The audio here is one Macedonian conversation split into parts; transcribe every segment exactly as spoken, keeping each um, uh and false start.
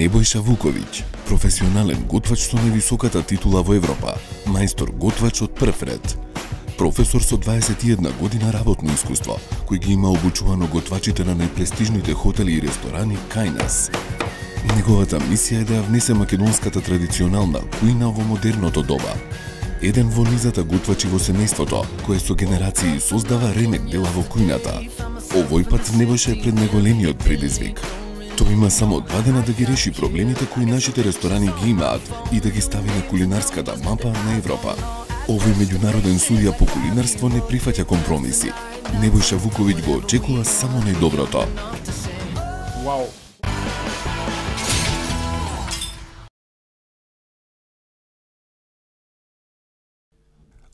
Небојша Вуковиќ, професионален готвач со највисоката титула во Европа, мајстор готвач од прв ред. Професор со дваесет и една година работно искуство, кој ги има обучувано готвачите на најпрестижните хотели и ресторани кај нас. Неговата мисија е да ја внесе македонската традиционална кујна во модерното доба. Еден во низата готвачи во семејството, кој со генерации создава ремек дела во кујната. Овој пат Небојша е пред најголемиот предизвик. Тој има само два дена да ги реши проблемите кои нашите ресторани ги имаат и да ги стави на кулинарската мапа на Европа. Овој меѓународен судија по кулинарство не прифаќа компромиси. Небојша Вуковиќ го очекува само најдоброто. Вау!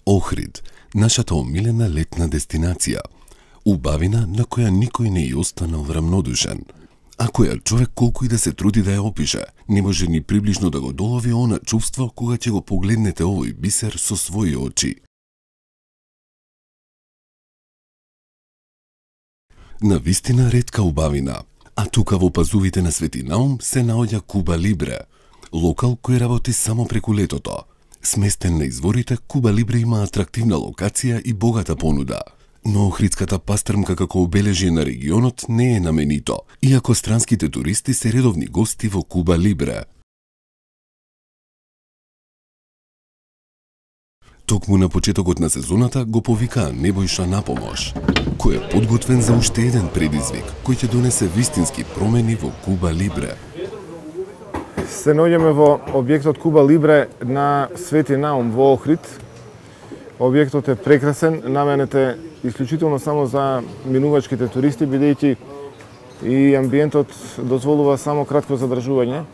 Охрид, нашата омилена летна дестинација. Убавина на која никој не ја останал рамнодушен. А која човек колку и да се труди да ја опише, не може ни приближно да го долови она чувство кога ќе го погледнете овој бисер со своји очи. Навистина ретка убавина, а тука во пазувите на Свети Наум се наоѓа Куба Либре, локал кој работи само преку летото. Сместен на изворите, Куба Либре има атрактивна локација и богата понуда. Но охридската пастрмка како обележје на регионот не е наменито, иако странските туристи се редовни гости во Куба Либре. Токму на почетокот на сезоната го повикаа Небојша на помош, кој е подготвен за уште еден предизвик, кој ќе донесе вистински промени во Куба Либре. Се наоѓаме во објектот Куба Либре на Свети Наум во Охрид. Објектот е прекрасен, наменет е исклучително само за минувачките туристи, бидејќи и амбиентот дозволува само кратко задржување,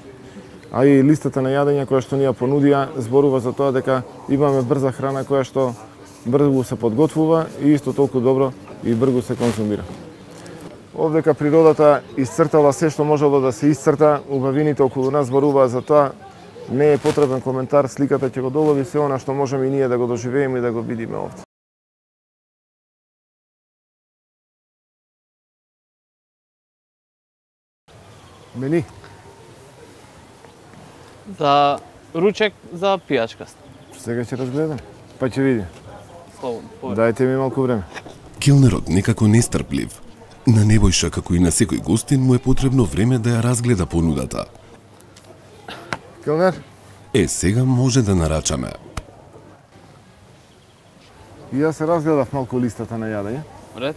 а и листата на јадења која што ни ја понудија зборува за тоа дека имаме брза храна која што брзо се подготвува и исто толку добро и брзо се конзумира. Овдека природата исцртала се што можело да се исцрта, убавините околу нас зборуваат за тоа. Не е потребен коментар, сликата ќе го долови се она што можеме и ние да го доживееме и да го видиме овде. Мени? За ручек, за пијачка. Сега ќе разгледам, па ќе видим. Слободно, повеќе. Дајте ми малку време. Келнерот некако нестрплив. На Небојша, како и на секој гостин, му е потребно време да ја разгледа понудата. Келнер? Е, сега може да нарачаме. И јас се разгледав малку листата на јадење. Ред?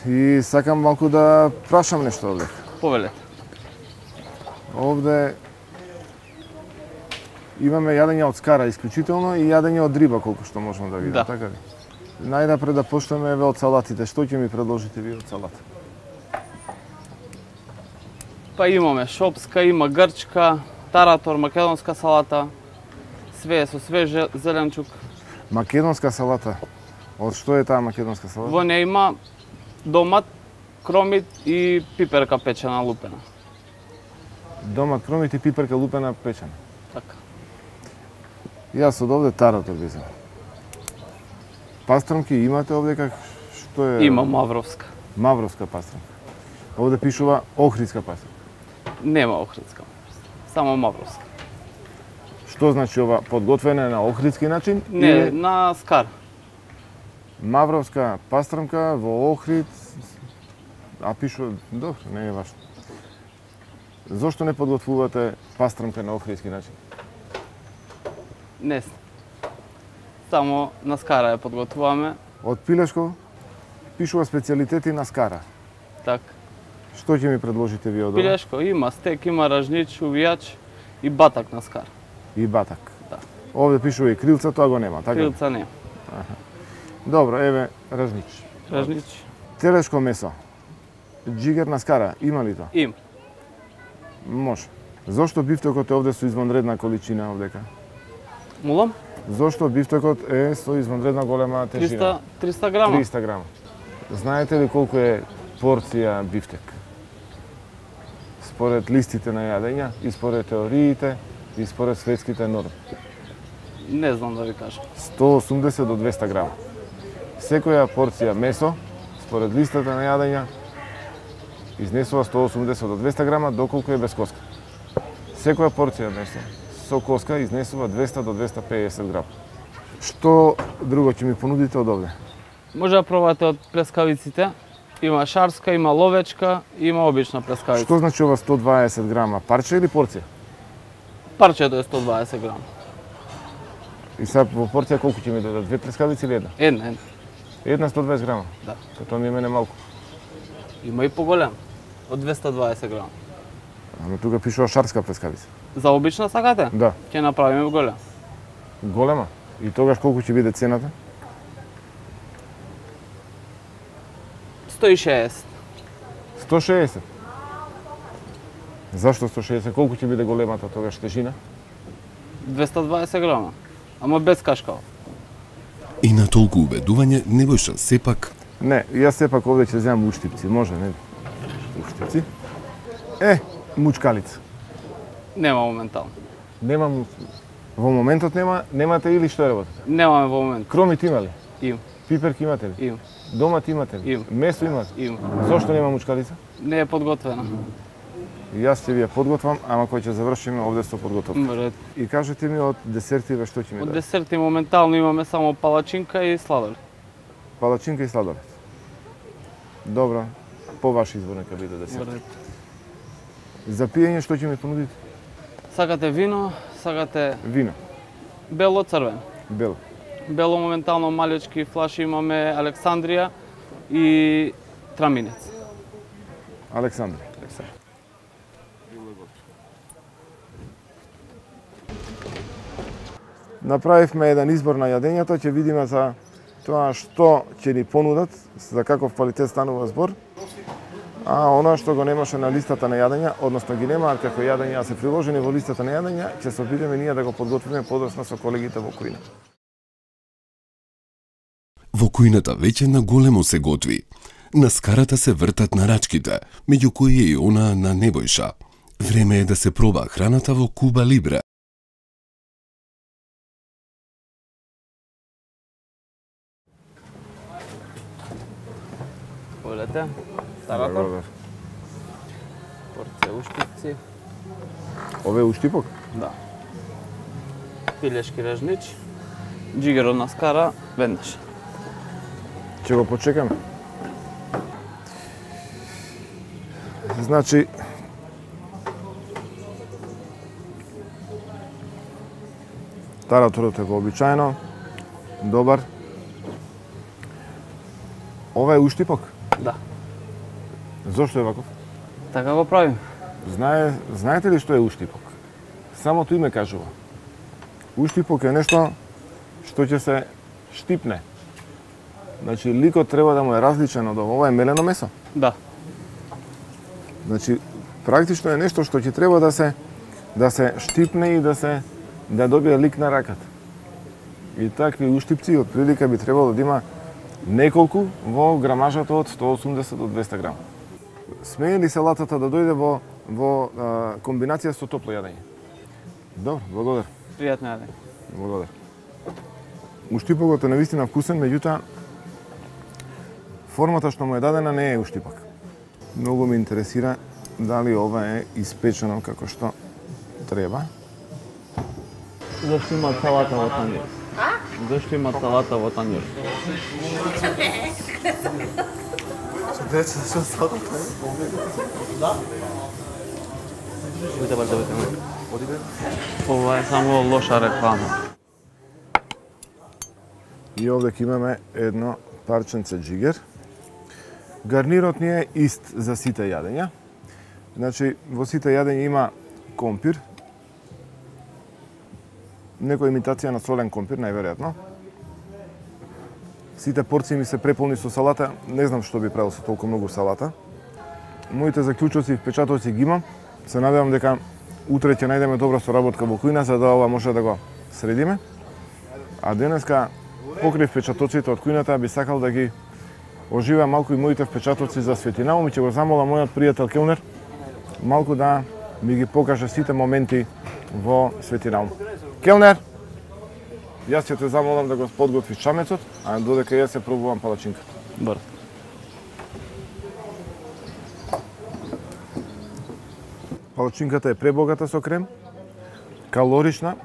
И сакам малку да прашам нешто овде. Повелете. Овде имаме јадење од скара исклучително и јадење од риба колку што можам да видам, Да. така ли? Најнапред да почнеме еве од салатите. Што ќе ми предложите ви од салата? Па имаме шопска, има грчка, таратор, македонска салата, све со свеж зеленчук. Македонска салата. Од што е таа македонска салата? Во неја има домат, кромит и пиперка печена лупена. Домат, кромит и пиперка лупена печена. Така. Јас од овде таратор би земал. Пастрмки имате овде как што е? Има мавровска. Мавровска пастрмка. Овде пишува охридска пастрмка. Нема охридска. Само мавровска. Што значи ова подготвена на охридски начин? Не, или на скар. Мавровска пастрмка во Охрид, а пишува, добро, не е важно. Зошто не подготвувате пастрмка на охридски начин? Не. Само на скара ја подготвуваме. Од Пилешко пишува специјалитети на скара. Так. Што ќе ми предложите ви од ова? Пилешко има стек, има ражнич, увијач и батак на скар. И батак. Да. Овде пишува и крилца, тоа го нема, така? Крилца не. Добро, еве ражнич. Ражнич Телешко месо. Џигер на скара, има ли тоа? им. Може. Зошто бифтекот е овде со извонредна количина овдека? Мулам? Зошто бифтекот е со извонредна голема тежина? триста, триста грама. триста грама. Знаете ли колку е порција бифтек? Според листите на јадења и според теориите и според светските норми. Не знам да ви кажам. сто осумдесет до двеста грама. Секоја порција месо, според листата на јадења, изнесува сто осумдесет до двеста грама, доколку е без коска. Секоја порција месо со коска изнесува двеста до двеста пеесет грама. Што друго ќе ми понудите од овде? Може да пробате од плескавиците. Има шарска, има ловечка, има обична плескавица. Што значи ова сто дваесет грама? Парче или порција? Парчето е сто дваесет грама. И сега во порција колку ќе ми дадат? Две плескавици или една? Една, една. Една сто дваесет грама? Да. Тоа ми е мене малку. Има и поголем, од двеста дваесет грама. Ама тука пишува шарска плескавица. За обична сакате? Да. Ќе направиме голем. Голема? И тогаш колку ќе биде цената? сто и шеесет. сто шеесет. Зашто сто шеесет? Колку ќе биде големата тогаш тежина? двеста дваесет грама. Ама без кашкава. И на толку убедување Небојша сепак Не, јас сепак овде ќе земам уштипци, може, не? Уштипци. Е, мучкалица. Нема моментално. Немам, во моментот нема, немате или што работите? Немаме во момент. Кромит има ли? Им, Пиперки имате ли? им, Домат имате ли? Им. Месо имате? им. Зошто нема мучкалица? Не е подготвена. Јас ќе ви ја подготвам, ама кој ќе завршиме овде со подготовка. Може. И кажете ми од десертиве што ќе ми Од дадете? десерти моментално имаме само палачинка и сладолед. Палачинка и сладолед. Добро, по ваш избор нека биде десерт. Може. За пиење што ќе ми понудите? Сакате вино, сакате Вино, бело, црвено. бело. Бело моментално малечки флаши имаме Александрија и Траминец. Александри. Направивме еден избор на јадењата, ќе видиме за тоа што ќе ни понудат, за каков квалитет станува збор. А она што го немаше на листата на јадења, односно ги немаат како јадења се приложени во листата на јадења, ќе се обидеме ние да го подготвиме подоцна со колегите во кујна. во кујната веќе на големо се готви. На скарата се вртат нарачките, меѓу кои е и она на Небојша. Време е да се проба храната во Куба Либре. Олете, таратор, порција уштипци, Ове уштипок? да. Пилешки режнич, џигерот на скара, веднаш. Ќе го почекаме. Значи, тараторот е вообичаено, добар. Ова е уштипок? Да, Зошто е ваков? така го правим. Знае, знаете ли што е уштипок? Самото име кажува. Уштипок е нешто што ќе се штипне. Значи, ликот треба да му е различен од ова. Ова е мелено месо. Да, Значи, практично е нешто што ќе треба да се да се штипне и да се да добие лик на раката. И такви уштипци од прилика би требало да има неколку во грамажата од сто осумдесет до двеста грама. Смее ли салатата да дојде во во а, комбинација со топло јадење? Добро, благодарам. пријатно јадење. Благодарам. Уштипокот е навистина вкусен, меѓутоа формата што му е дадена не е уштипок. Многу ме интересира дали ова е испечено како што треба. Зашто има салата во танјир? А? Зашто има салата во танјир? Деца, што става? Да? Оди баш да видиме. Ова е само лоша реклама. И овде ќе имаме едно парченце џигер. Гарнирот ни е ист за сите јадења. Значи, во сите јадења има компир. Некоја имитација на солен компир, најверојатно. Сите порции ми се преполни со салата. Не знам што би правил со толку многу салата. Моите заклучоци и впечатоци ги имам. Се надевам дека утре ќе најдеме добра соработка во кујна, за да ова може да го средиме. А денеска, покрај впечатоците од кујната, би сакал да ги оживеа малку и моите впечатоци за Светинаум и ќе го замолам мојот пријател келнер малку да ми ги покаже сите моменти во Светинаум. Келнер, јас ќе те замолам да го подготвиш чамецот, а додека јас се пробувам палачинката. Добро. Палачинката е пребогата со крем, калорична.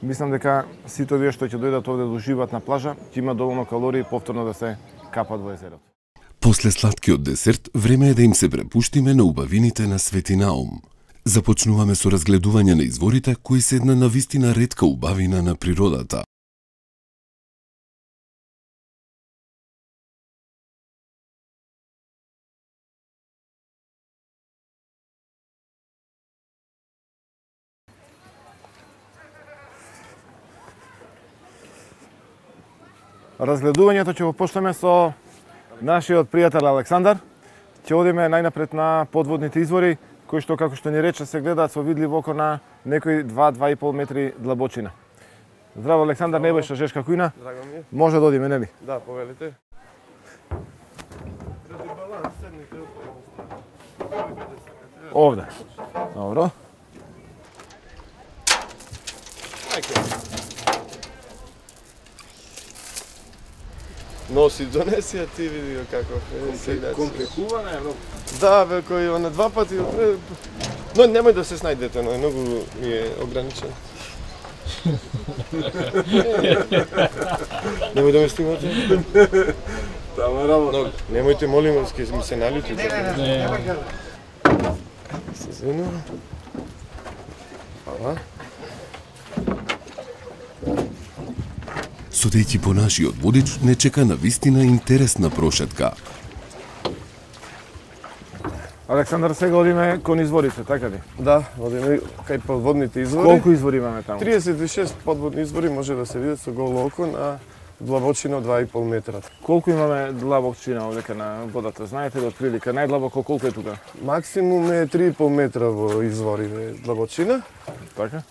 Мислам дека сите овие што ќе дојдат овде да уживаат на плажа, ќе има доволно калории повторно да се капат во езерото. После сладкиот десерт, време е да им се препуштиме на убавините на Свети Наум. Започнуваме со разгледување на изворите кои се една навистина ретка убавина на природата. Разгледувањето ќе го почнеме со нашиот пријател Александар. Ќе одиме најнапред на подводните извори, кои што, како што ни рече, се гледаат со видлив око на некои два до два и пол метри длабочина. Здраво, Александар, Небојша Жешка Кујна. Драго ми е. Може да одиме, нели? Да, повелите. Овде. Добро. Носи, донеси, а ти види го каков е. Компликувана е многу. Да, бе, кој на два пати... Но немој да се снајдете, но многу ми е ограничен. Немој да ме снимате. Тама работа. Немојте, молим, ке ми се налюти. Не, не, не. Се извинувам. Хвала. Судејќи по нашиот водич, не чека на вистина интересна прошетка. Александар, сега одиме кон изворите, така ли? Да, одиме кај подводните извори. Колку извори имаме таму? триесет и шест подводни извори може да се видат со голо око на длабочина од два и пол метра. Колку имаме длабокчина овдека на водата? Знаете ли отприлика најдлабоко колку е тука? Максимум е три и пол метра во изворите длабочина. Така?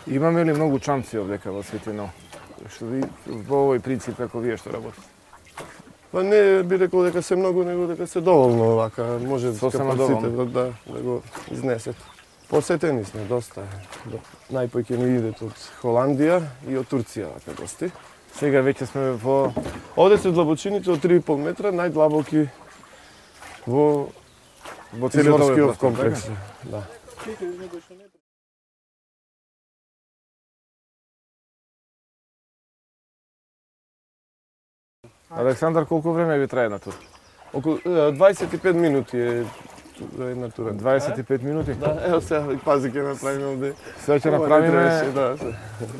Имаме ли многу чамци овдека во Свети Наум? Што ви во овој принцип како вие што работите? Па не би рекол дека се многу, него дека се доволно овака, може Сосема капацитет доволно. да, да го изнесет. Посетени сме доста. Најпој ќе ни идет од Холандија и од Турција вака гости. Сега веќе сме во... Овде се длабочините од три и пол метра, најдлабоки во во целиот овој изворскиот простор, комплекс. така? Да. Александар, колку време ви трае на тур? Околу е, дваесет и пет минути е ту- една тура. дваесет и пет минути? Да, ево сега, пази ќе направиме овде. Сега ќе Ова не направиме требаше, да,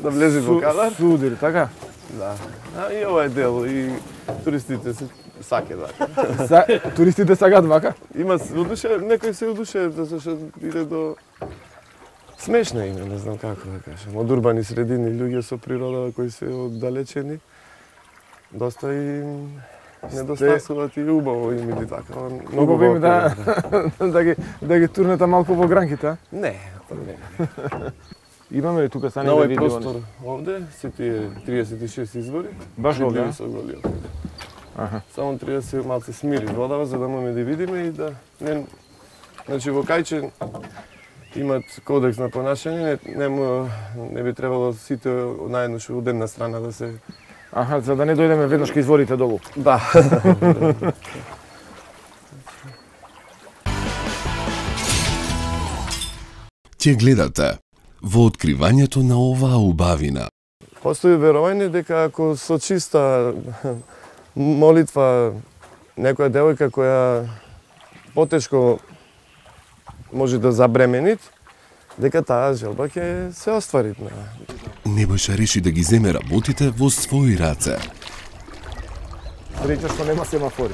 да влезе во кадар. судир, така? Да. А и ова е дел и туристите се саке да. За, туристите сакаат вака? Има се удуше, некој се удуше да се иде до смешно име, не знам како да кажам. Од урбани средини луѓе со природа кои се оддалечени. Доста и недостасуваат и убаво им или така. Многу Убаво им да, да. да, ги, да ги турнете малку во гранките, а? Не, па не. Имаме ли тука сани На да овој видиме? простор овде се тие триесет и шест извори. Баш овде, видливи а? со голи око. Аха. Само треба да се малце смири водава за да можеме да видиме и да не значи во Кајче имат кодекс на понашање, не, не, му- не би требало сите наеднаш од една страна да се Аха, за да не дојдеме веднаш кај изворите долу. да. Ќе гледате во откривањето на оваа убавина. Постои верување дека ако со чиста молитва некоја девојка која потешко може да забременит, дека таа желба ќе се оствари. Небојша реши да ги земе работите во своји раце. Среќа што нема семафори.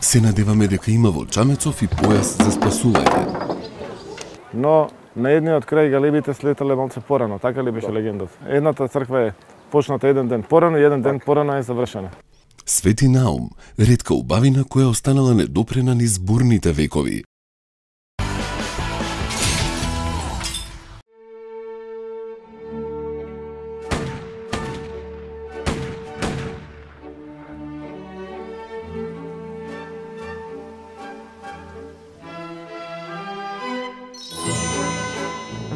Се надеваме дека има во Чамецов и појас за спасување. Но на едниот крај галебите слетале малце порано, така ли беше легендата? Едната црква е почната еден ден порано и еден ден порано е завршена. Свети Наум, ретка убавина која останала недопрена низ бурните векови.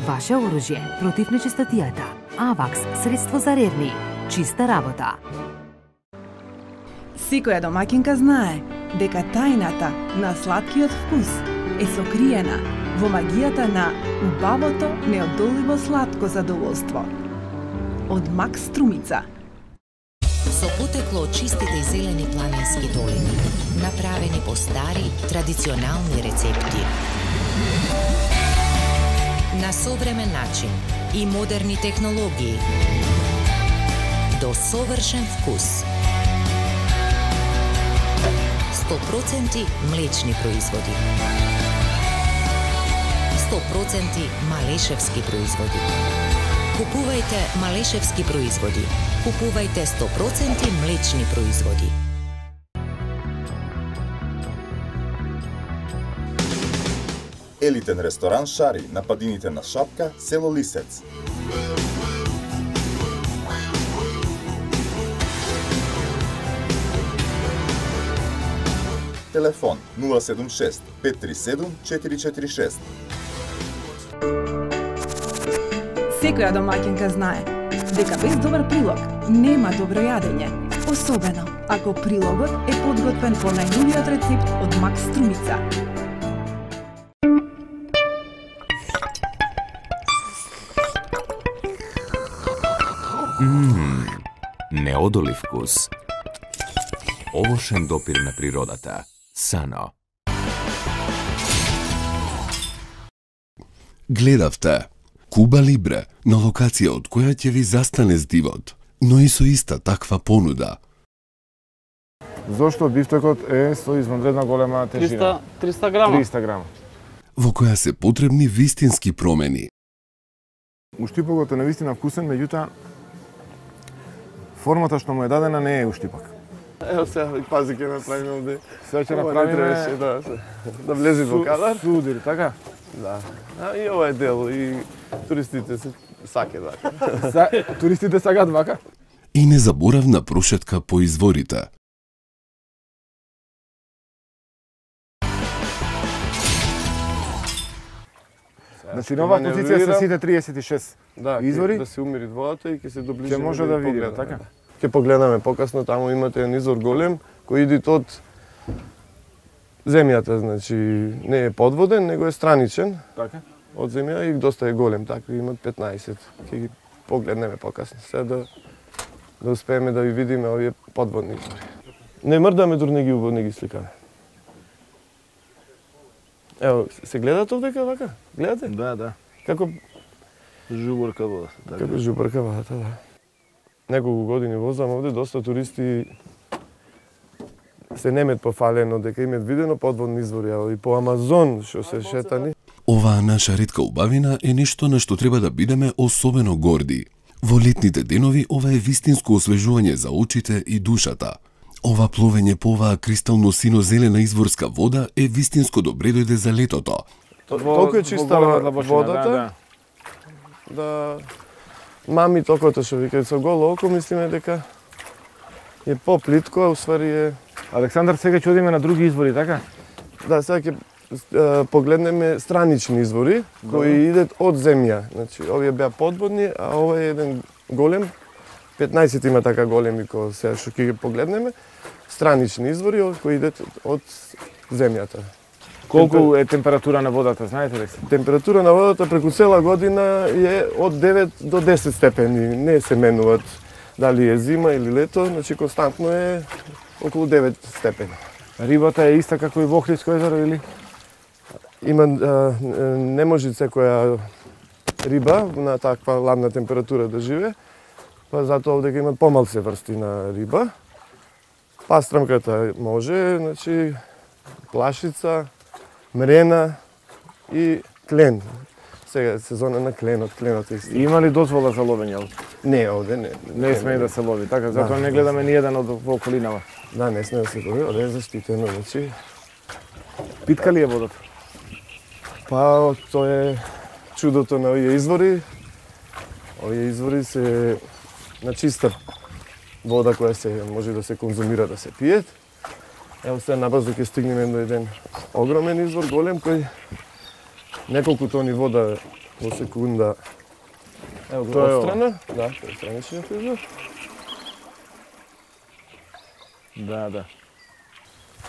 Ваше оружје против нечистотијата. Авакс, средство за ревни. Чиста работа. Секоја домаќинка знае дека тајната на сладкиот вкус е сокриена во магијата на убавото, неодоливо сладко задоволство. Од Макс Струмица. Со потекло од чистите и зелени планински долини, направени по стари, традиционални рецепти. На современ начин и модерни технологии. До совршен вкус. сто проценти млечни производи. сто проценти малешевски производи. Купувајте малешевски производи. Купувајте сто проценти млечни производи. Елитен ресторан Шари на падините на Шапка, село Лисец. Телефон нула седум шест пет три седум четири четири шест. Секоја домаќинка знае дека без добар прилог нема добро јадење, особено ако прилогот е подготвен по најновиот рецепт од Макс Струмица. Ммм, неодолив вкус. Овошен допир на природата. Сано. Гледавте Куба Либре, на локација од која ќе ви застане здивот, но и со иста таква понуда. Зошто бифтекот е со извонредна голема тежина? триста грама. триста грама. Во која се потребни вистински промени. Уштипокот е навистина вкусен, меѓутоа формата што му е дадена не е уштипак. Ево сега, пази ќе направиме овде. Сега ќе направиме да, да влезе во кадар. Судир, така? Да. А и ова е дел и туристите се саке вака. Са, туристите сакаат вака? И незаборавна прошетка по изворите. Значи, на оваа позиција се сите триесет и шест да, извори. Да се умири водата и ќе се доближиме. Ќе може да видиме, така? Ќе погледаме покасно, таму имате еден извор голем кој иде од земјата, значи не е подводен, него е страничен. Така? Од земја и доста е голем, така имат петнаесет. Ќе ги погледнеме покасно, сега да да успееме да ви видиме овие подводни извори. Не мрдаме дури не ги убаво, не ги сликаме. Ево, се гледате овдека вака? Гледате? Да, да. Како жубурка водата. Да. Како жубурка водата, да. Неколку години возам овде, доста туристи се немет пофалено дека имат видено подводни извори, и по Амазон што се шетани. Оваа наша ретка убавина е нешто на што треба да бидеме особено горди. Во летните денови ова е вистинско освежување за очите и душата. Ова пловење по оваа кристално сино-зелена изворска вода е вистинско добре дојде за летото. Толку е чиста водата, да, да мами токото што викаат со голо око, мислиме дека е поплитко, а усвари е... Александар, сега ќе одиме на други извори, така? Да, сега ќе погледнеме странични извори кои идат од земја. Значи, овие беа подводни, а ова е еден голем, петнаесет има така големи кои сега што ќе ги погледнеме, странични извори кои идат од земјата. Колку е температура на водата, знаете ли? Температура на водата преку цела година е од девет до десет степени, не се менуваат дали е зима или лето, значи константно е околу девет степени. Рибата е иста како и во Охридско езеро или? Има а, не може секоја риба на таква ладна температура да живее, па затоа овде имат помалце врсти на риба. Пастрамката може, значи плашица, мрена и клен. Сега е сезона на кленот, кленот е исти. Има ли дозвола за ловење? Не, овде не. Не смее да се лови, така? Затоа не гледаме ни еден од во околинава. Да, не смее да се лови, овде е заштитено, значи. Питка ли е водата? Па, тоа е чудото на овие извори. Овие извори се на чиста вода која се може да се конзумира, да се пиет. Ево сега набрзо ќе стигнеме до еден огромен извор, голем, кој неколку тони вода во секунда. Ево го отстрана. Да, тоа е страничниот извор. Да, да.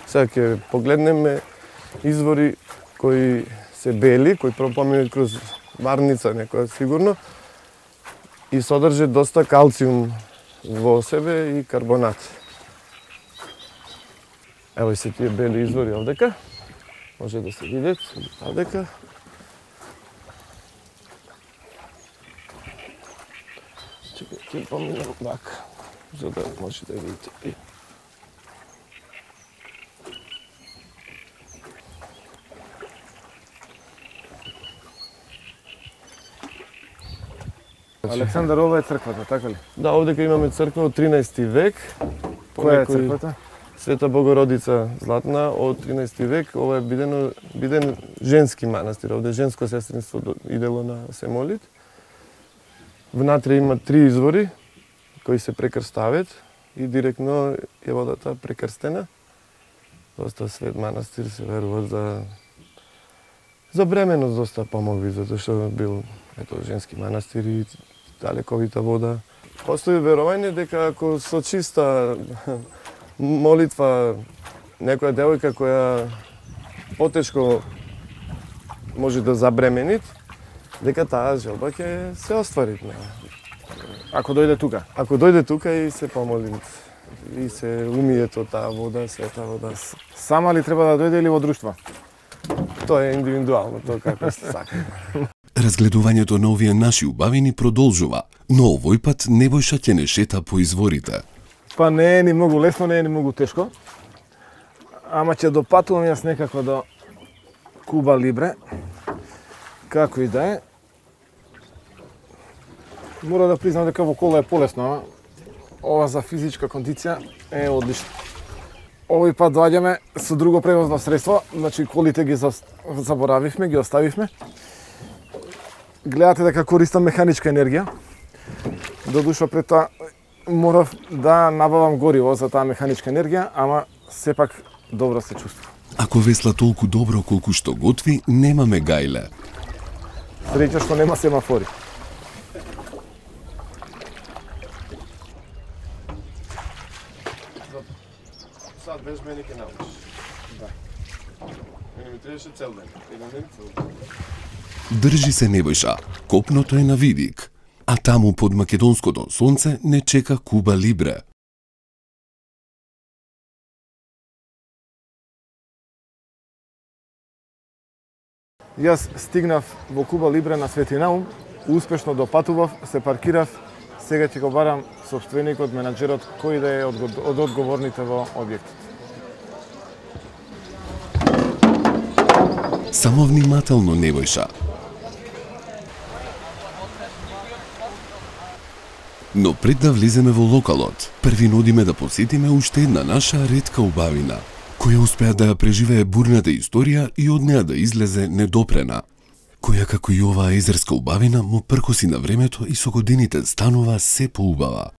Сега ќе погледнеме извори кои се бели, кои пропоминат кроз варница некоја сигурно, и содржи доста калциум во себе и карбонат. Ево и се тие бели извори овдека. Може да се видат овдека. Чекај, ќе поминам вака, за да може да видите. Александар, ова е црквата, така ли? Да, овдека имаме црква од тринаести век. Која е црквата? Света Богородица Златна од тринаести век. Ова е бидено, биден женски манастир. Овде женско сестринство идело на се молит. Внатре има три извори кои се прекрстават и директно е водата прекрстена. Доста свет манастир, се верува за за бременост доста помогли, затоа што бил ето женски манастир и далековита вода. Постои верување дека ако со чиста молитва некоја девојка која потешко може да забременит, дека таа желба ќе се оствари. Ако дојде тука? Ако дојде тука и се помоли и се умие од таа вода, света вода. Сама ли треба да дојде или во друштво? Тоа е индивидуално, тоа како се сака. Разгледувањето на овие наши убавини продолжува, но овој пат Небојша ќе не шета по изворите. Па не е ни многу лесно, не е ни многу тешко. Ама ќе допатувам јас некако до Куба Либре. Како и да е. Мора да признам дека во кола е полесно, ама ова за физичка кондиција е одлично. Овој пат доаѓаме со друго превозно средство, значи колите ги заборавивме, ги оставивме. Гледате дека користам механичка енергија. Додуша пред тоа морав да набавам гориво за таа механичка енергија, ама сепак добро се чувствувам. Ако весла толку добро колку што готви, немаме гајле. Среќа што нема семафори. Сад без мене ќе научиш. Да. Мене ми требаше цел ден. Еден ден цел ден. Држи се Небојша, копното е на видик, а таму под македонското сонце не чека Куба Либре. Јас стигнав во Куба Либре на Свети Наум, успешно допатував, се паркирав, сега ќе го барам сопственикот, менаџерот, кој да е од одговорните во објектот. Само внимателно, Небојша. Но пред да влеземе во локалот, први нудиме да посетиме уште една наша ретка убавина, која успеа да ја преживее бурната историја и од неа да излезе недопрена, која како и оваа езерска убавина му пркоси на времето и со годините станува се поубава.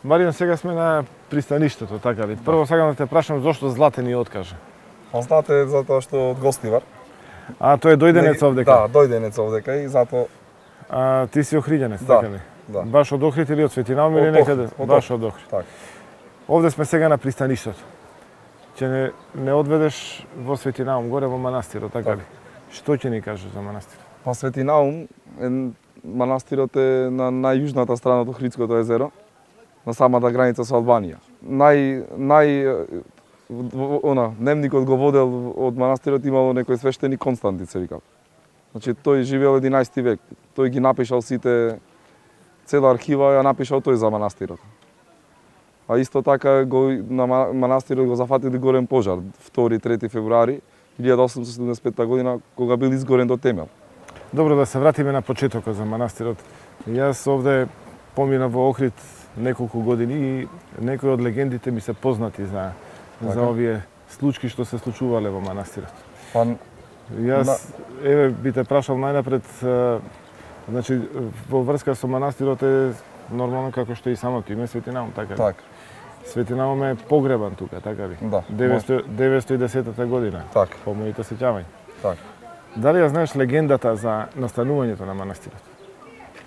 Маријан, сега сме на пристаништето, така ли? Прво сакам да те прашам зошто Злате ни откаже. Па Злате затоа што од гостивар. А, тој е дојденец овдека? Да, дојденец овдека и затоа... А, ти си охриѓенец, да, така ли? Да. Баш од Охрид или од Свети Наум или некаде? Од Баш од Охрид. Так. Овде сме сега на пристаништето. Ќе не, не одведеш во Свети Наум, горе во манастирот, така так. ли? Што ќе ни кажеш за манастирот? Па Свети Наум, е, манастирот е на најјужната страна од Охридското езеро, на самата граница со Албанија. Нај, нај, она, дневникот го водел од манастирот, имало некој свештеник Константин, се викав. Значи, тој живеел единаесети век. Тој ги напишал сите, цела архива ја напишал тој за манастирот. А исто така го, на манастирот го зафатили горен пожар, втори трети февруари илјада осумстотини седумдесет и петта година, кога бил изгорен до темел. Добро, да се вратиме на почетокот за манастирот. Јас овде поминав во Охрид неколку години и некои од легендите ми се познати за, за овие случаи што се случувале во манастирот. Па, Јас, на... еве, би те прашал најнапред, значи, во врска со манастирот е нормално како што и самото име Свети Наум, така ли? Так. Свети Наум е погребан тука, така ли? Да. деветстотини и десета година. Так. По моите сеќавања. Так. Дали ја знаеш легендата за настанувањето на манастирот?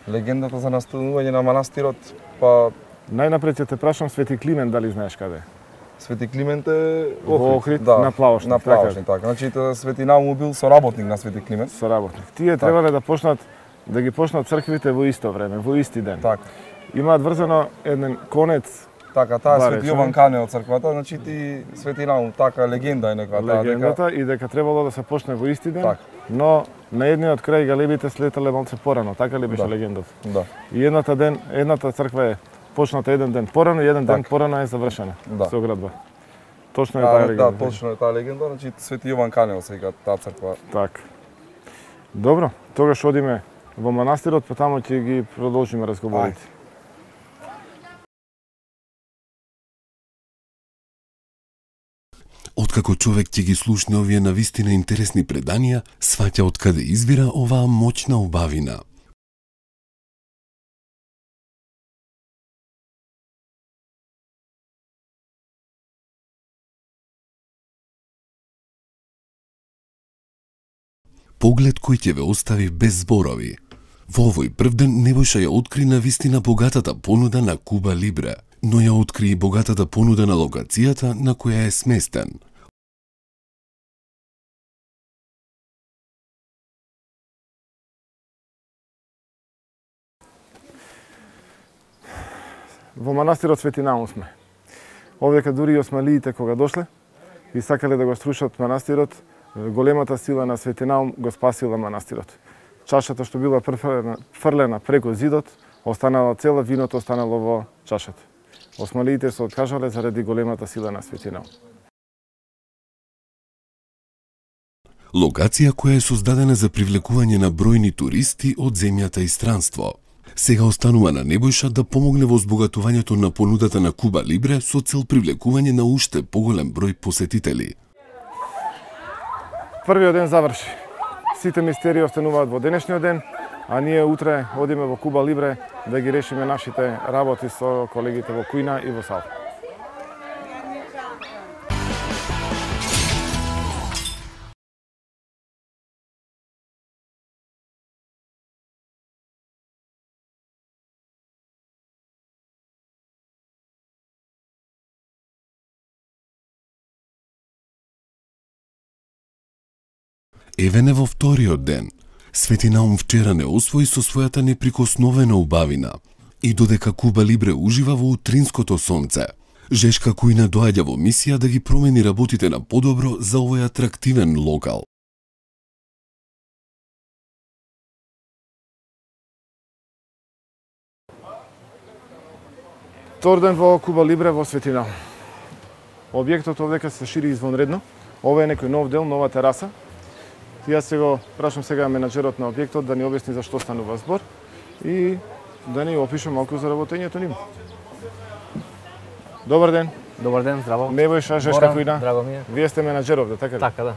Легендата за настанување на манастирот, па Најнапред ќе те прашам Свети Климент дали знаеш каде е? Свети Климент е Во Охрид, да, на Плавошник. На Плавошник, така. Значи Свети Наум бил соработник на Свети Климент. Соработник. Тие требале да почнат да ги почнат црквите во исто време, во исти ден. Така. Имаат врзано еден конец. Така, таа е Свети Јован Кане од црквата, значи ти Свети Наум, така легенда е некоја таа дека легендата и дека требало да се почне во исти ден. Так. Но на едниот крај галебите слетале малце порано, така ли беше да. легендата? Да. И едната ден, едната црква е почната еден ден порано и еден так. ден порано е завршена. Да. Со оградба. Точно е да, таа да, легенда. Да, точно е таа легенда, значи Свети Јован Канео се вика таа црква. Така. Добро, тогаш одиме во манастирот, па таму ќе ги продолжиме разговорите. Откако човек ќе ги слушне овие навистина интересни преданија, сваќа од каде извира оваа моќна убавина. Поглед кој ќе ве остави без зборови. Во овој прв ден Небојша ја откри навистина богатата понуда на Куба Либре, но ја откри и богатата понуда на локацијата на која е сместен. Во манастирот Свети Наум сме. Овдека дури и османлиите кога дошле и сакале да го струшат манастирот, големата сила на Свети Наум го спасила манастирот. Чашата што била фрлена преку зидот, останала цела, виното останало во чашата. Османлиите се откажале заради големата сила на Свети Наум. Локација која е создадена за привлекување на бројни туристи од земјата и странство. Сега останува на Небојша да помогне во збогатувањето на понудата на Куба Либре со цел привлекување на уште поголем број посетители. Првиот ден заврши. Сите мистерии остануваат во денешниот ден, а ние утре одиме во Куба Либре да ги решиме нашите работи со колегите во Куина и во Сал. Евене во вториот ден, Свети Наум вчера не освои со својата неприкосновена убавина и додека Куба Либре ужива во утринското сонце, Жешка Куина доаѓа во мисија да ги промени работите на подобро за овој атрактивен локал. Втор ден во Куба Либре во Свети Наум. Објектот овдека се шири извонредно. Ова е некој нов дел, нова тераса. Јас се го прашам сега менаџерот на објектот да ни објасни за што станува збор и да ни опише малку за работењето ним. Добар ден. Добар ден, здраво. Небојша, Жешка Куина. Драго ми е. Вие сте менаџеров, да така ли? Така, да.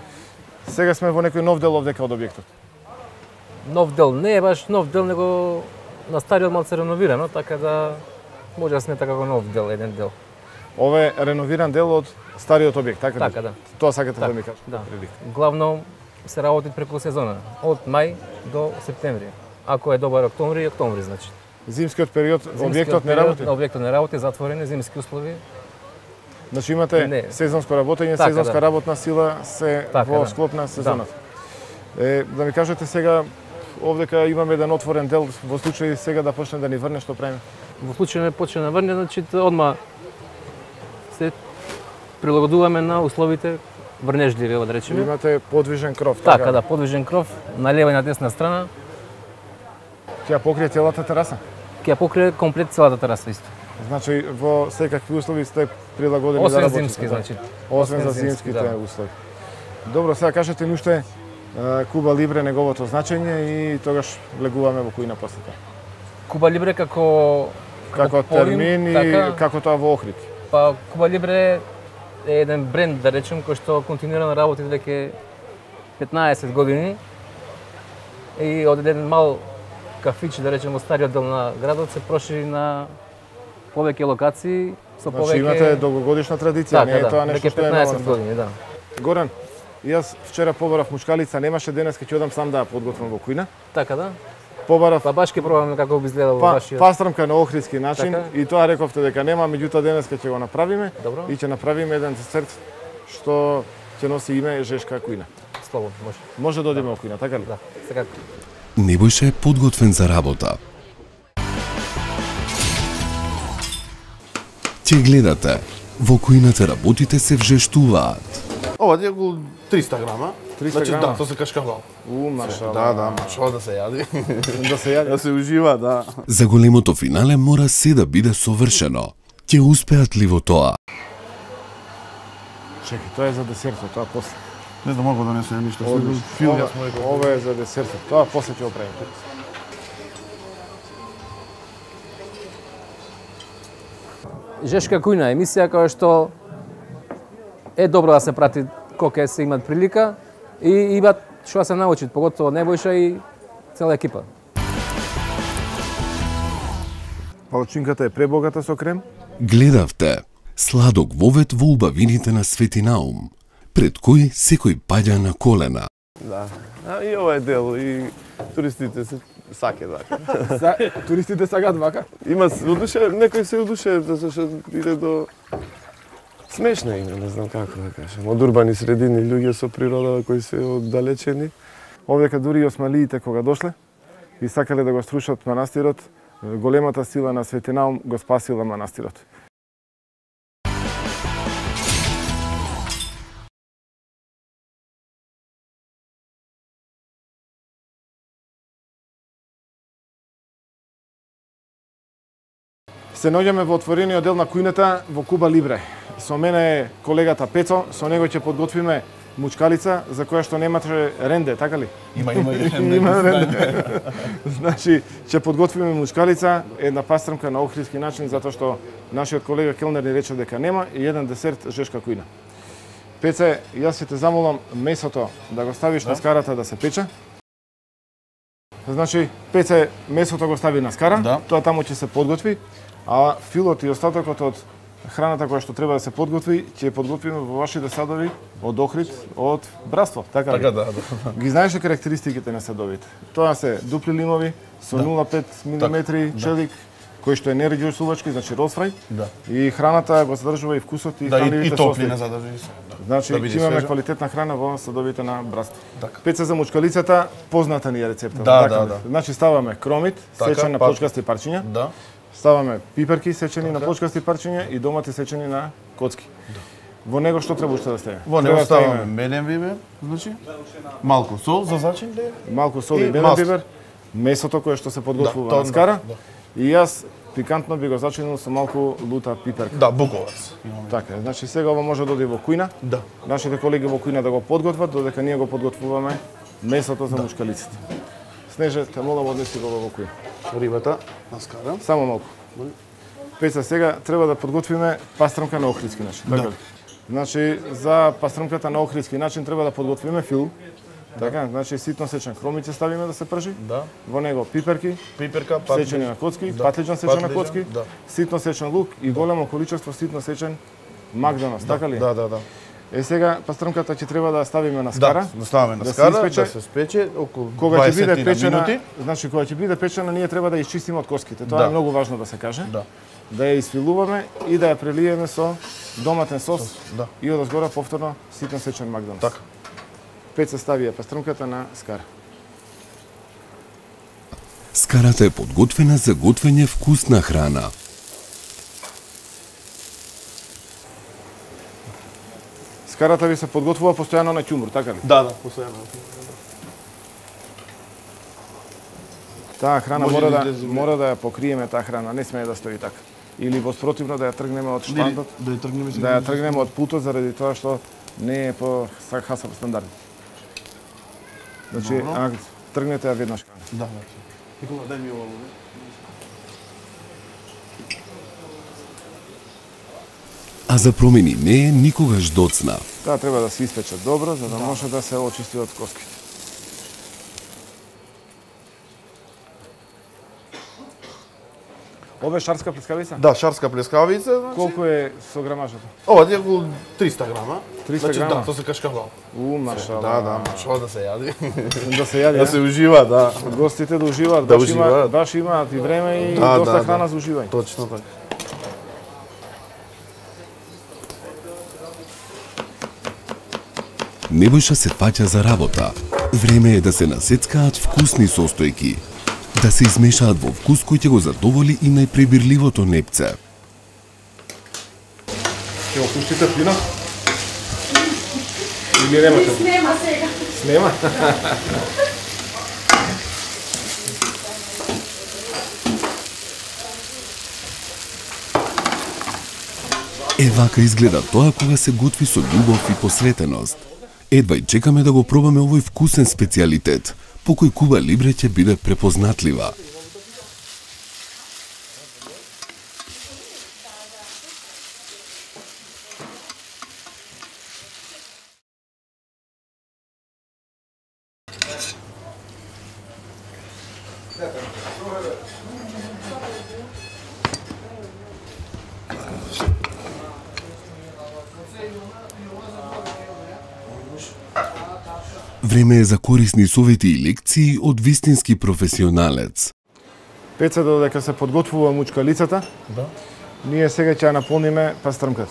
Сега сме во некој нов дел овдека од објектот. Нов дел, не е баш нов дел, него на стариот малце реновирано, така да може да смета како нов дел, еден дел. Ова е реновиран дел од стариот објект, така ли? Така, да. Тоа сакате так, да ми кажете? Да. Главно се работи преку сезона, од мај до септември. Ако е добар октомври, октомври значи. Зимскиот период објектот не работи? Објектот не работи, затворен, зимски услови. Значи имате не. сезонско работење, така, сезонска да. работна сила се така, во склоп на сезоната. Да. Е, да ми кажете сега, овдека имаме еден отворен дел, во случај сега да почне да ни врне, што правиме? Во случај не почне да врне, значи одма се прилагодуваме на условите врнежливи, да речеме. Имате подвижен кров, така? Така, да, подвижен кров, на лева и на десна страна. Ќе ја покрие целата тераса? Ќе ја покрие комплет целата тераса исто. Значи во секакви услови сте прилагодени освен да работите? Освен зимски, значи. Освен за зимските да. услови. Добро, сега кажете ни уште Куба Либре неговото значење и тогаш влегуваме во Куина после тоа. Куба Либре како како термин и така, како тоа во Охрид. Па Куба Либре е еден бренд, да речем, кој што континуирано работи веќе петнаесет години и од еден мал кафич, да речем, во стариот дел на градот се прошири на повеќе локации со повеќе. Значи имате долгогодишна традиција, така, не е да, тоа нешто што е петнаесет години, да. Горан, јас вчера побарав мушкалица, немаше денес ќе ќе одам сам да ја подготвам во Куина. Така да. побарав. Па баш ќе пробаме како би изгледал па, вашиот. Пастрамка на охридски начин така? И тоа рековте дека нема, меѓутоа денеска ќе го направиме. Добро. И ќе направиме еден десерт што ќе носи име Жешка кујна. Слободно, може. Може да одиме во кујна, така ли? Да, секако. Небојша е подготвен за работа. Ќе гледате, во кујната работите се вжештуваат. Ова е околу триста грама. триста значи, грама? Да, тоа се кашкавал. У, машала. Да, да, машала да се јади. Да се јади. Да се ужива, да. За големото финале мора се да биде совршено. Ќе успеат ли во тоа? Чекай, тоа е за десертот, тоа после. Не знам, ако да не се ништо. Фил, ова, ова е за десертот, тоа после ќе го правим. Жешка кујна емисија која што е добро да се прати кога се имат прилика и имат што да се научат, поготово Небојша и цела екипа. Палачинката е пребогата со крем. Гледавте сладок вовет во убавините на Свети Наум, пред кој секој паѓа на колена. Да, а, и ова е дел, и туристите се саке вака. Са, туристите сакаат вака? Има одуше, некој се одуше затоа што иде до смешно име, не знам како да кажам. Од урбани средини луѓе со природа кои се оддалечени. Овдека дури и осмалиите кога дошле и сакале да го струшат манастирот, големата сила на Свети Наум го спасила манастирот. Се наоѓаме во отворениот дел на кујната во Куба Либре. Со мене е колегата Пецо, со него ќе подготвиме мучкалица за која што немаше ренде, така ли? Има, има и ренде. Има ренде. Значи, ќе подготвиме мучкалица, една пастрамка на охридски начин, затоа што нашиот колега келнер ни рече дека нема и еден десерт Жешка кујна. Пеце, јас ќе те замолам месото да го ставиш да. на скарата да се пече. Значи, Пеце, месото го стави на скара, да. Тоа таму ќе се подготви, а филот и остатокот од храната која што треба да се подготви, ќе подготвиме во вашите садови од охрид, од братство, така ли? Така, да, да. Ги знаеш карактеристиките на садовите. Тоа се дупли лимови со да. нула целу пет милиметри так, челик, да. кој што е нереѓосувачки, значи ролсфрај. Да. И храната го задржува и вкусот и да, хранливите состои. Да, и топлина задржува се. Да. Значи, да ќе имаме свежа. квалитетна храна во садовите на братство. Така. Пеца за мучкалицата, позната ни е рецепта. Да, така, да, да. Значи ставаме кромит, така, сечен на па... почкасти парчиња. Да. Ставаме пиперки сечени така. на почкасти парчиња и домати сечени на коцки. Да. Во него што треба уште да стане? Во него ставаме меден бибер, значи малку сол за зачин, малку сол и, и меден бибер, месото кое што се подготвува да, на скара. Да, да. И јас пикантно би го зачинил со малку лута пиперка. Да, буковац. Така, значи сега ова може да оди во кујна. Да. Нашите колеги во кујна да го подготват, додека ние го подготвуваме месото за да. мушкалиците. Снеже, те молам однеси го во кујна. Рибата на скара. Само малку. Пеца, сега треба да подготвиме пастрамка на охридски начин, така да. ли? Значи, за пастрамката на охридски начин треба да подготвиме фил. Така, да. значи ситно сечен хромице ставиме да се пржи. Да. Во него пиперки, пиперка, патлиж... сечени на коцки, да. патлиџан сечен на коцки, да. ситно сечен лук и големо количество ситно сечен макдонос, да. така ли? Да, да, да. Е сега пастрамката ќе треба да ставиме на скара. Да, да ставиме на скара, да се, да се спече околу дваесет минути. Значи кога ќе биде печена, ние треба да ја изчистиме од коските. Тоа да. е многу важно да се каже. Да. Да ја изфилуваме и да ја прелиеме со доматен сос, сос да. и одозгора повторно ситно сечен макдонос. Така. Пеца ставија пастрамката на скара. Скарата е подготвена за готвење вкусна храна. Скарата ви се подготвува постојано на ќумур, така ли? Да, да, постојано. Таа храна може мора да, да мора да ја покриеме таа храна, не смее да стои така. Или воспротивно да ја тргнеме од штандот, да ја тргнеме, да ја тргнеме од путот заради тоа што не е по хасап стандард. Значи, а, тргнете ја веднаш. Да, да. Никола, дај ми ова. А за промени не е никогаш доцна. Таа треба да се испече добро, за да, да. може да се очисти од коските. Ова е шарска плескавица? Да, шарска плескавица, значи. Колку е со грамажата? Ова е околу триста грама. триста значи, грама? Да, тоа се кашкавал. У, машала. Да, да, машала да се јади. Да се јади, да се ужива, да. Гостите да уживаат, да баш, уживаат. Има, баш имаат и време и да, доста да, храна да. за уживање. Точно така. Небојша се фаќа за работа. Време е да се насецкаат вкусни состојки, да се измешаат во вкус кој ќе го задоволи и најпребирливото непце. Ќе го пуштите плинот? Или немате? Снема сега. Снема? Е, вака изгледа тоа кога се готви со љубов и посветеност. Едва и чекаме да го пробаме овој вкусен специјалитет, по кој Куба Либре ќе биде препознатлива. Време е за корисни совети и лекции од вистински професионалец. Пеца, додека се подготвува мучкалицата, да. Ние сега ќе ја наполниме пастрмката.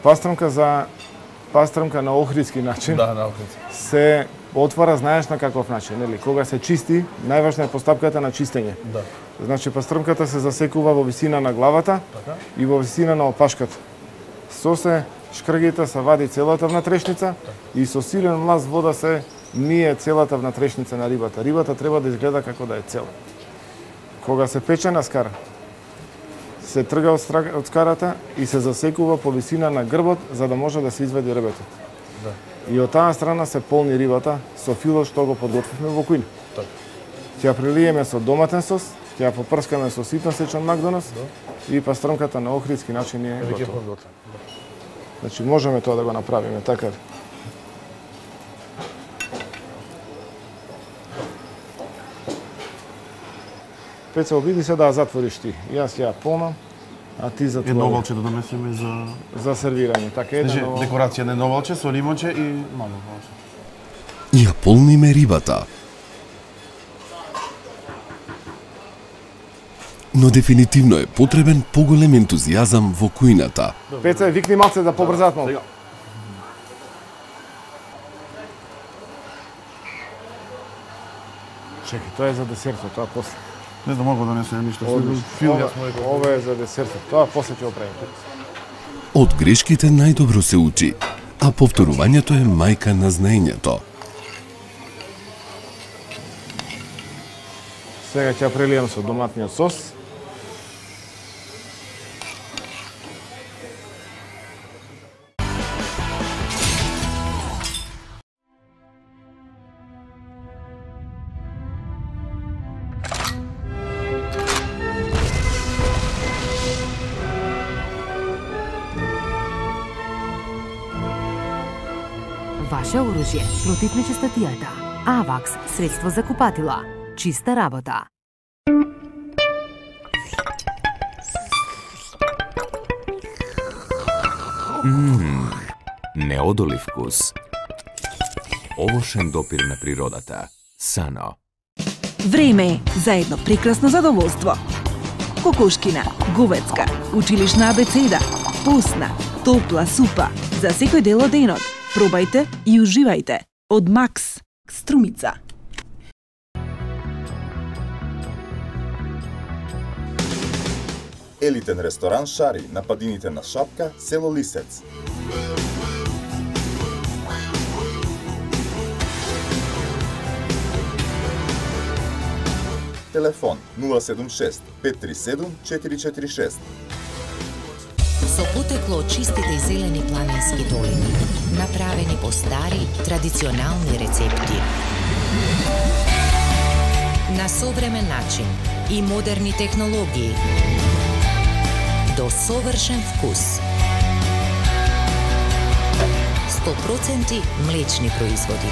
Пастрмка за пастрмка на охридски начин. Да, на охридски. Се отвара, знаеш на каков начин, нели? Кога се чисти, најважна е постапката на чистење. Да. Значи пастрмката се засекува во висина на главата така? И во висина на опашката. Со се шкргите се вади целата внатрешница и со силен млаз вода се мие целата внатрешница на рибата. Рибата треба да изгледа како да е цела. Кога се пече на скара, се трга од, страг, од скарата и се засекува по висина на грбот за да може да се извади ребетот. Да. И од таа страна се полни рибата со филот што го подготвивме во кујна. Так. Ќе ја прелиеме со доматен сос, ќе ја попрскаме со ситно сечен макдонос да. И пастрмката на охридски начин е Веќе готова. Значи можеме тоа да го направиме, така. Пеца, обиди се да ја затвориш ти. Јас ја полнам, а ти затвори. Едно овалче да донесеме за за сервирање. Така едно Значи, овал... декорација на едно овалче со лимонче и мало овалче. И ја полниме рибата. Но дефинитивно е потребен поголем ентузијазам во кујната. Пеца, викни малце да побрзаат малку. Чекај, тоа е за десертот, тоа после. Не знам, мога да донесеме ништо. Фил, ова е за десертот, тоа после ќе го правиме. Од грешките најдобро се учи, а повторувањето е мајка на знаењето. Сега ќе ја прелијам со доматниот сос. Ваше оружје против нечистотијата. Авакс, средство за купатила. Чиста работа. Ммм, неодолив вкус. Овошен допир на природата. Сано. Време е за едно прекрасно задоволство. Кокошкина, говецка, училишна абецеда, постна, топла супа за секој дел од денот. Пробајте и уживајте. Од Макс, Струмица. Елитен ресторан Шари на падините на Шапка, село Лисец. Телефон нула седум шест пет три седум четири четири шест. Со потекло од чистите и зелени планински долини, направени по стари, традиционални рецепти. На современ начин и модерни технологии. До совршен вкус. сто проценти млечни производи.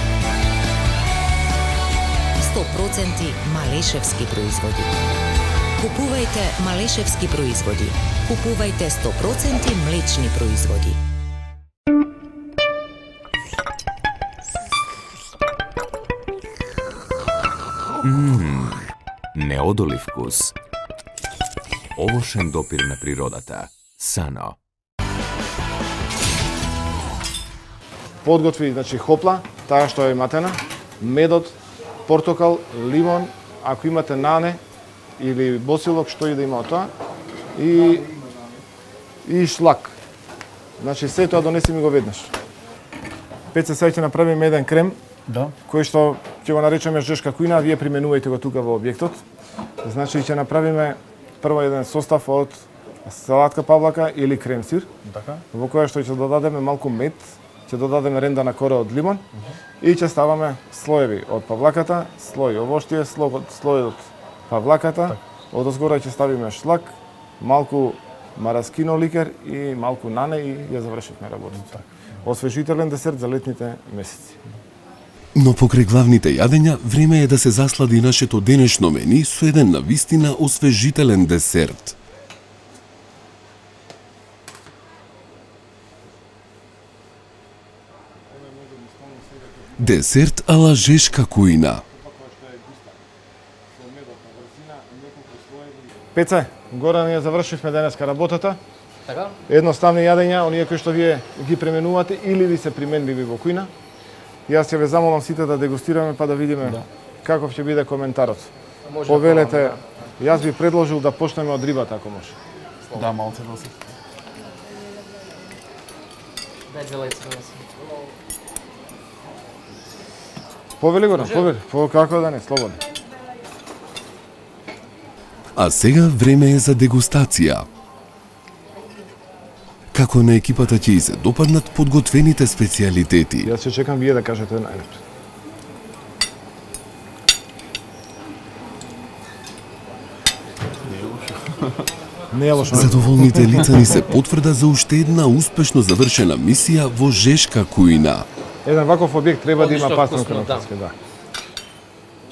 сто проценти малешевски производи. Купувајте малешевски производи. Купувајте сто проценти млечни производи. Ммм, неодолив вкус. Овошен допир на природата. Сано. Подготви, значи, хопла, таа што е матена, медот, портокал, лимон, ако имате нане или босилок, што и да има од тоа, и и шлак. Значи, се тоа донеси ми го веднаш. Пеце, сега ќе направиме еден крем, Да. кој што ќе го наречеме жешка кујна, вие применувајте го тука во објектот. Значи, ќе направиме прво еден состав од салатка павлака или крем сир, Така. во која што ќе додадеме малку мед, ќе додадеме рендана кора од лимон и ќе ставаме слоеви од павлаката, слој овоштие, слој од павлаката, од озгора ќе ставиме шлак, малку мараскино ликер и малку нане и ја завршивме работата. Освежителен десерт за летните месеци. Но покрај главните јадења, време е да се заслади нашето денешно мени со еден навистина освежителен десерт. Десерт ала жешка кујна. Пеце, горе ние завршивме денеска работата. Така? Едноставни јадења, оние кои што вие ги пременувате или ви се применливи во кујна. Јас ќе ве замолам сите да дегустираме па да видиме да. Каков ќе биде коментарот. Може Повелете, јас би предложил да почнеме од рибата ако може. Да, малце да се. Дај две лајци да се. Повели го, повели. По како да не, слободно. А сега време е за дегустација. Како на екипата ќе и се допаднат подготвените специјалитети. Јас ќе чекам вие да кажете најнапред. Не е лошо. Задоволните лица ни се потврда за уште една успешно завршена мисија во жешка кујна. Еден ваков објект треба да има Одлично пасна вкусно, да. крнопарска, да.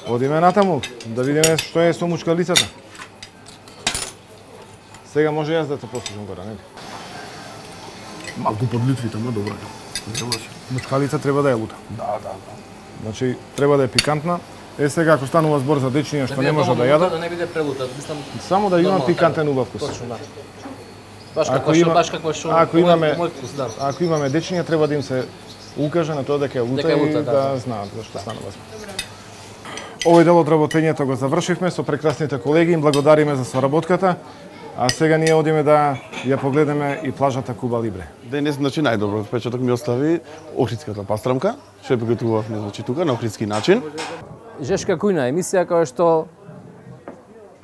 Одиме натаму, да видиме што е со мучкалицата. Сега може јас да те послушам гора, нели? Малку подлитвите, ма добро. Не лошо. Мучкалица треба да е лута. Да, да, да. Значи, треба да е пикантна. Е, сега, ако станува збор за дечиња што не може да јадат, Да не биде прелута, мислам. само да има нормално, пикантен убав вкус. Точно, да. Баш Ако како што, има- баш како што ако мој- имаме- мој вкус, да. Ако имаме дечиња, треба да им се укаже на тоа дека е лута Дека е лута, и да, да, да. знаат зашто станува збор. Овој дел од работењето го завршивме со прекрасните колеги, им благодариме за соработката. А сега ние одиме да ја погледаме и плажата Куба Либре. Денес, значи, најдобро впечаток ми остави охридската пастрамка, што ја приготувавме, значи, тука на охридски начин. Жешка кујна емисија која што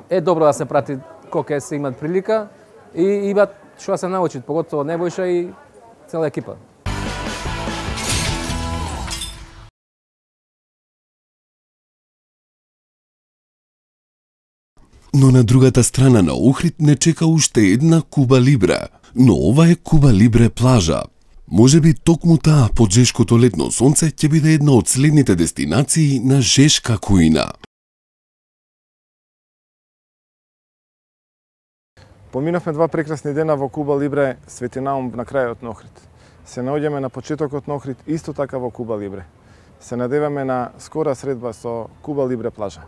е добро да се прати кога се имат прилика и имат што да се научат, поготово Небојша и цела екипа. Но на другата страна на Охрид не чека уште една Куба Либре, но ова е Куба Либре плажа. Можеби токму таа под жешкото летно сонце ќе биде една од следните дестинации на жешка кујна. Поминавме два прекрасни дена во Куба Либре, Свети Наум на крајот на Охрид. Се наоѓаме на почетокот на Охрид исто така во Куба Либре. Се надеваме на скора средба со Куба Либре плажа.